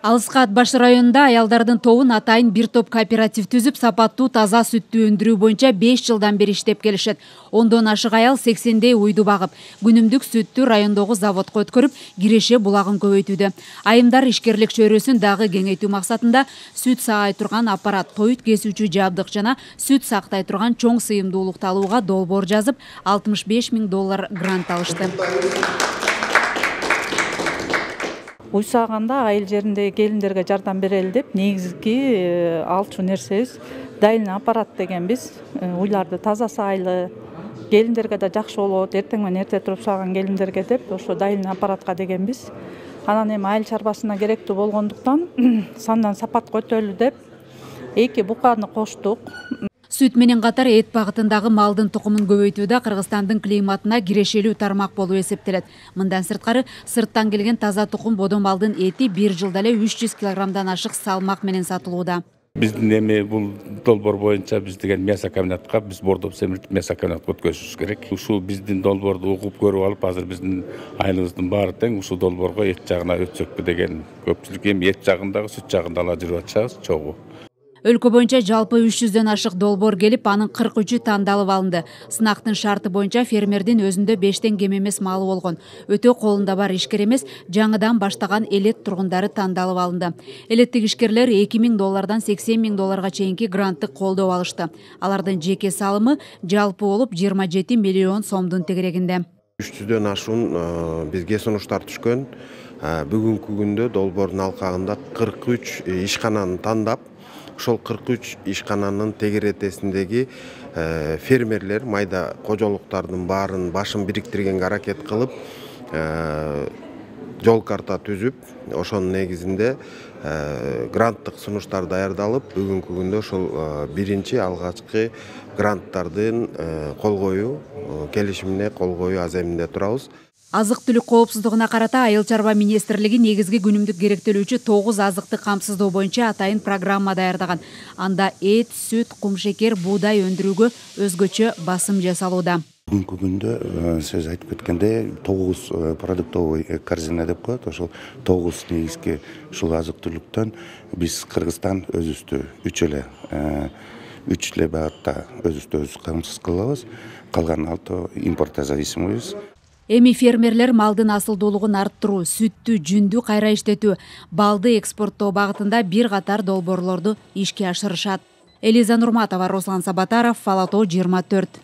Алыскы Ат Баш районунда аялдардын тобун атайын бир топ кооператив түзүп, сапаттуу таза сүттү өндүрүү боюнча 5 жылдан бери иштеп келишет. Ондон ашык аял 80дей уйду багып, күнүмдүк сүттү райондогу заводко өткөрүп, киреше булагын көбөйтүүдө. Айымдар ишкерлик чөйрөсүн дагы кеңейтүү максатында сүт саай турган аппарат, тоют кесүүчү жабдык жана сүт сактай турган чоң сыйымдуулукту алууга долбоор жазып, $65 000 грант алышты. Уй сааганда айыл жериндеги келиндерге жардам берели деп негизги алчу нерсебиз дайын аппарат дегенбиз. Уйларды таза саайлы, келиндерге да жакшы болот, эртең менен эрте туруп сааган келиндерге деп ошо дайын аппаратка дегенбиз. Анан эми айыл чарбасына керектүү болгондуктан сандан сапат көтөрүлү деп 2 буканы коштук. Сүт менен катар эт багытындагы малдын тукумун көбөйтүүдө Кыргызстандын климатына кирешелүү тармак болуп эсептелет. Мындан сырткары, сырттан келген таза тукум бодо малдын эти бир жылда эле 300 килограммдан ашык салмак менен сатылууда. Биздин эми бул долбоор боюнча биз деген мясо комбинатка биз бордоп семиртип мясо комбинатка өткөзүшүбүз керек. Ушул биздин долбоорду угуп көрүп алып, азыр биздин айылыбыздын баары тең ушул долбоорго эт жагына өтсөкпү деген көпчүлүк эми эт жагындагы сүт жагында ала жүрүп атышабыз чогуу. Өлкө боюнча жалпы 300дөн ашык долбоор келип, анын 43-ü тандалып алынды. Сынактын шарты боюнча фермердин өзүндө 5тен кем эмес малы болгон. Өтө колунда бар ишкер эмес, жаңыдан баштаган элет тургундары тандалып алынды. Элеттик ишкерлер $2000 $80 000 чейинки гранттык колдоо алышты. Алардын жеке салымы жалпы болуп 27 миллион сомдун тегерегинде. 300дөн ашуун бизге сунуштар түшкөн. Бүгүнкү күндө долбоордун алкагында 43 ишкананы тандап, ошол 43 ишкананын тегеретесиндеги фермерлер майда кожолуктардын баарын башын бириктиргенге аракет кылып, жол карта түзүп, ошонун негизинде гранттык сунуштар даярдалып, бүгүнкү күндө ошол биринчи алгачкы гранттардын кол коюу келишимине кол коюу аземинде турабыз. Азык-түлүк коопсуздугуна карата Айыл чарба министрлиги негизги күнүмдүк керектелүүчү 9 азыкты камсыздоо боюнча атайын программа даярдаган. Анда эт, сүт, кумшекер, буудай өндүрүүгө өзгөчө басым жасалууда. Бүгүнкү күндө сиз айтып кеткендей 9 продуктовый корзина деп коет. Ошол 9 негизги ушул азык-түлүктөн биз Кыргызстан өзүбүздү 3 эле багытта өзүбүздү камсыз кылабыз. Калган 6 импортко зависимыйбыз. Эми фермерлер малдын асылдуулугун арттыруу, сүттү, жүндү кайра иштетүү, балды экспорттоо багытында бир катар долбоорлорду ишке ашырышат. Элиза Нурматова, Руслан Сабатаров, Фалато 24.